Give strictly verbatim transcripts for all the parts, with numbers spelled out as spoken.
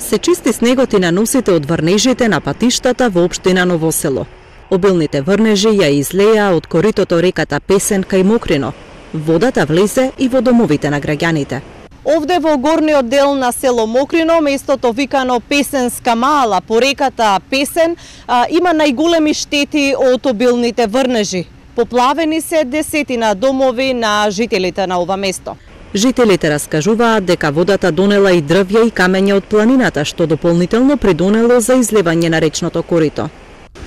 Се чисти снегот и наносите од врнежите на патиштата во општина Ново Село. Обилните врнежи ја излеа од коритото реката Песен кај Мокрино. Водата влезе и во домовите на граѓаните. Овде во горниот дел на село Мокрино, местото викано Песенска мала по реката Песен, има најголеми штети од обилните врнежи. Поплавени се десетина домови на жителите на ова место. Жителите раскажуваат дека водата донела и дрвја и камења од планината, што дополнително придонело за излевање на речното корито.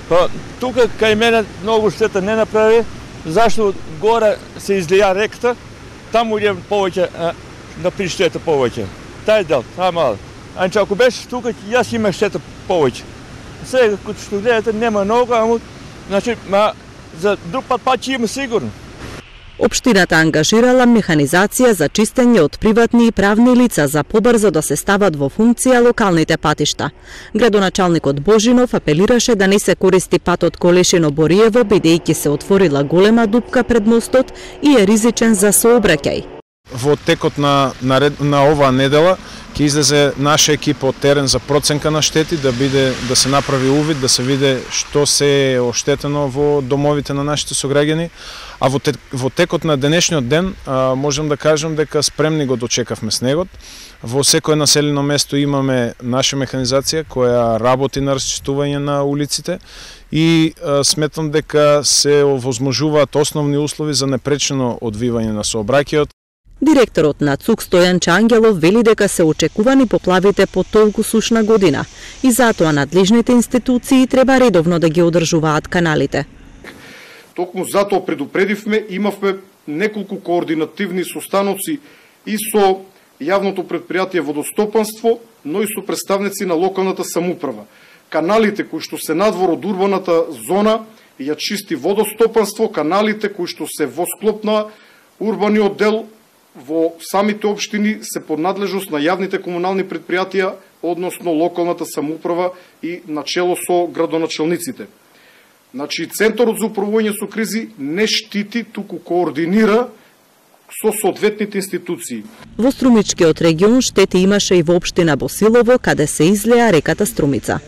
Па, тука кај мене многу штета не направи, зашто горе се излија реката, таму е повеќе на приштета повеќе. Тај дел, тај мал. Анче ако беше тука, јас имах штета повеќе. Сега, като што гледате, нема многу, ама, значи, ма, за друг пат пат ќе има сигурно. Општината ангажирала механизација за чистење од приватни и правни лица за побрзо да се стават во функција локалните патишта. Градоначалникот Божинов апелираше да не се користи патот Колешино-Бориево, бидејќи се отворила голема дупка пред мостот и е ризичен за сообраќај. Во текот на, на, на оваа недела ќе излезе наша екипа од терен за проценка на штети, да биде да се направи увид, да се види што се е оштетено во домовите на нашите сограѓани. А во, те, во текот на денешниот ден а, можем да кажем дека спремни го дочекавме снегот. Во секое населено место имаме наша механизација која работи на расчистување на улиците и а, сметам дека се овозможуваат основни услови за непречено одвивање на сообраќајот. Директорот на ЦУК Стојан Чангелов вели дека се очекувани поплавите по толку сушна година и затоа надлежните институции треба редовно да ги одржуваат каналите. Токму затоа предупредивме, имавме неколку координативни состаноци и со јавното предпријатие водостопанство, но и со представници на локалната самоуправа. Каналите кои што се надвор од урбаната зона ја чисти водостопанство, каналите кои што се во склоп на урбаниот дел во самите општини се под надлежност на јавните комунални предпријатија, односно локалната самоуправа и начело со градоначалниците. Значи, Центарот за управување со кризи не штити, туку координира со соодветните институции. Во Струмичкиот регион штети имаше и во општина Босилово, каде се излеа реката Струмица.